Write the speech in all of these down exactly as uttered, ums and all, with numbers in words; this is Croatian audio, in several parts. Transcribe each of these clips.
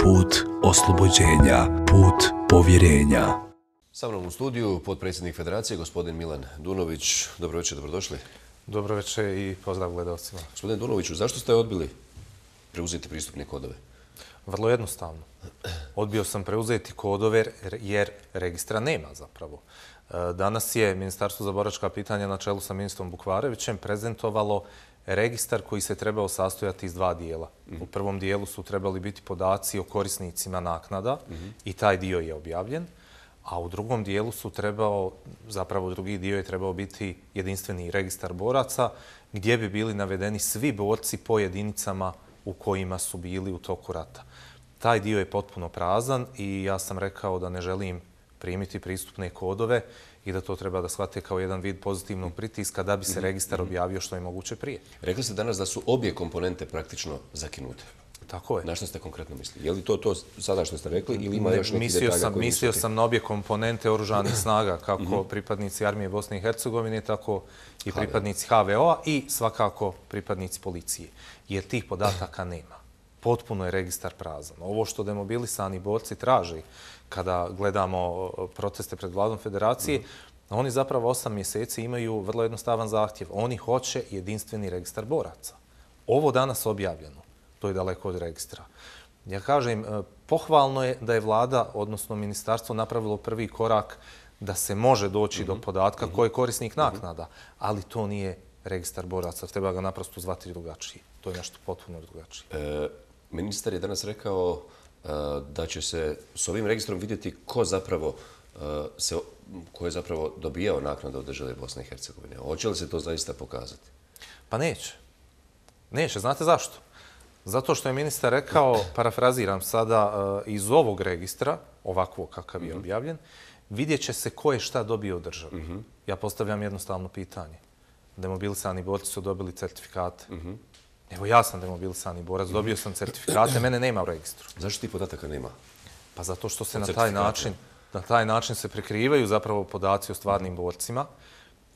put oslobođenja, put povjerenja. Sa mnom u studiju potpredsjednik Federacije, gospodin Milan Dunović. Dobro večer, dobrodošli. Dobro večer i pozdrav gledalcima. Gospodin Dunoviću, zašto ste odbili preuzeti pristupne kodove? Vrlo jednostavno. Odbio sam preuzeti kodove jer registra nema zapravo. Danas je Ministarstvo za boračka pitanja na čelu sa ministrom Bukvarevićem prezentovalo registar koji se trebao sastojati iz dva dijela. U prvom dijelu su trebali biti podaci o korisnicima naknada i taj dio je objavljen, a u drugom dijelu su trebao, zapravo drugi dio je trebao biti jedinstveni registar boraca gdje bi bili navedeni svi borci po jedinicama u kojima su bili u toku rata. Taj dio je potpuno prazan i ja sam rekao da ne želim primiti pristupne kodove i da to treba da shvate kao jedan vid pozitivnog pritiska da bi se registar objavio što je moguće prije. Rekli ste danas da su obje komponente praktično zakinute. Tako je. Na što ste konkretno mislili? Je li to to sada što ste rekli ili ima još neki mislio detalja sam, koji Mislio nisu ti? sam na obje komponente oružanih snaga, kako pripadnici Armije Bosne i Hercegovine, tako i pripadnici ha ve o-a i svakako pripadnici policije. Jer tih podataka nema. Potpuno je registar prazan. Ovo što demobilisani borci traži kada gledamo proteste pred vladom Federacije, oni zapravo osam mjeseci imaju vrlo jednostavan zahtjev. Oni hoće jedinstveni registar boraca. Ovo danas objavljeno, to je daleko od registra. Ja kažem, pohvalno je da je vlada, odnosno ministarstvo, napravilo prvi korak da se može doći do podatka ko je korisnik naknada, ali to nije registar boraca. Treba ga naprosto zvati drugačije. To je nešto potpuno drugačije. E, ministar je danas rekao e, da će se s ovim registrom vidjeti ko zapravo e, se, ko je zapravo dobijao naknadu od države Bosne i Hercegovine. Hoće li se to zaista pokazati? Pa neće. Neće. Znate zašto? Zato što je ministar rekao, parafraziram sada, iz ovog registra, ovakvog kakav je objavljen, vidjet će se ko je šta dobio od države. Ja postavljam jednostavno pitanje. Demobilisani borci su dobili certifikate. Evo ja sam demobilisani borac, dobio sam certifikate, mene nema u registru. Zašto ti podataka nema? Pa zato što se na taj način, na taj način se prikrivaju zapravo podaci o stvarnim borcima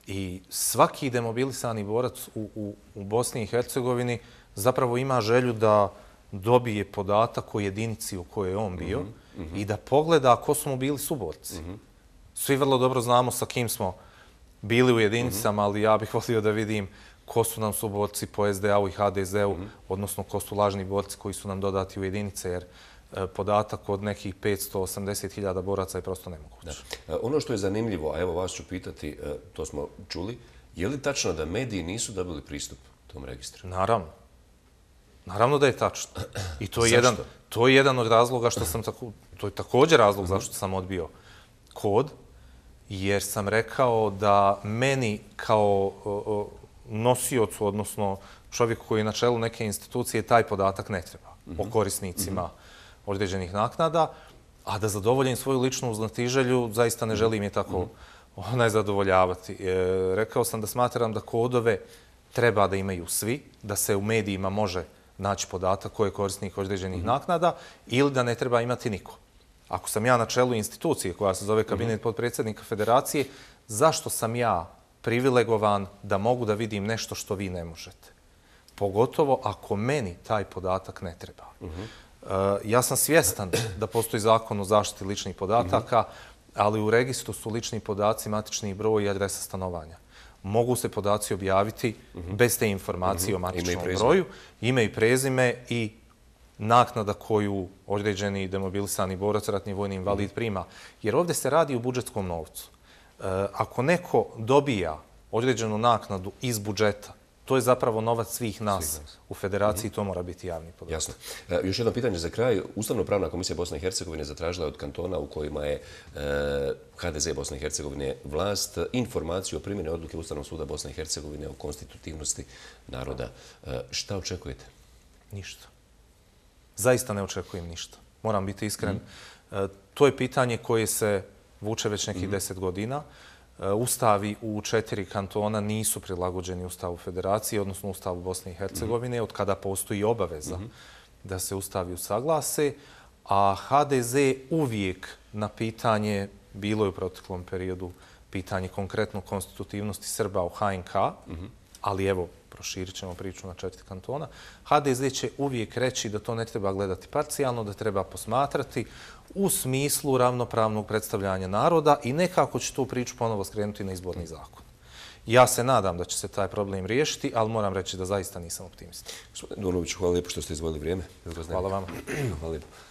i svaki demobilisani borac u, u, u Bosni i Hercegovini zapravo ima želju da dobije podatak o jedinici u kojoj je on bio i da pogleda ko su mu bili suborci. Svi vrlo dobro znamo sa kim smo bili u jedinicama, ali ja bih volio da vidim ko su nam suborci po es de a-u i ha de ze-u, odnosno ko su lažni borci koji su nam dodati u jedinice, jer podatak od nekih petsto osamdeset hiljada boraca je prosto nemoguće. Da. Ono što je zanimljivo, a evo vas ću pitati, to smo čuli, je li tačno da mediji nisu dobili pristup tom registru? Naravno. Naravno da je tačno. I to je, jedan, to je jedan od razloga što sam tako, to je također razlog zašto sam odbio kod, jer sam rekao da meni kao o, nosiocu, odnosno čovjeku koji je na čelu neke institucije, taj podatak ne treba o korisnicima određenih naknada, a da zadovoljim svoju ličnu znatiželju, zaista ne želim je tako onaj zadovoljavati. E, rekao sam da smatram da kodove treba da imaju svi, da se u medijima može naći podatak ko je korisnik određenih naknada ili da ne treba imati niko. Ako sam ja na čelu institucije koja se zove Kabinet potpredsjednika Federacije, zašto sam ja privilegovan da mogu da vidim nešto što vi ne možete? Pogotovo ako meni taj podatak ne treba. Ja sam svjestan da postoji zakon o zaštiti ličnih podataka, ali u registru su lični podaci, matični broj i adresa stanovanja. Mogu se podaci objaviti bez te informacije o matičnom broju, ime i prezime i naknada koju određeni demobilisani borac, ratni vojni invalid prima. Jer ovdje se radi o budžetskom novcu. Ako neko dobija određenu naknadu iz budžeta, to je zapravo novac svih nas u Federaciji, to mora biti javni podatak. Jasno. Još jedno pitanje za kraj. Ustavno-pravna komisija Bosne i Hercegovine zatražila od kantona u kojima je ha de ze Bosne i Hercegovine vlast informaciju o primjeni odluke Ustavnog suda Bosne i Hercegovine o konstitutivnosti naroda. Šta očekujete? Ništa. Zaista ne očekujem ništa. Moram biti iskren. To je pitanje koje se vuče već nekih deset godina. Ustavi u četiri kantona nisu prilagođeni Ustavu Federacije, odnosno Ustavu Bosne i Hercegovine, od kada postoji obaveza da se ustavi usaglase, a ha de ze uvijek na pitanje, bilo je u proteklom periodu pitanje konkretno konstitutivnosti Srba u ha en ka, ali evo, proširit ćemo priču na četiri kantona. ha de ze će uvijek reći da to ne treba gledati parcijalno, da treba posmatrati u smislu ravnopravnog predstavljanja naroda i nekako će tu priču ponovo skrenuti na izborni zakon. Ja se nadam da će se taj problem riješiti, ali moram reći da zaista nisam optimista. Gospodine Dunoviću, hvala lijepo što ste izvojili vrijeme. Hvala vama. Hvala lijepo.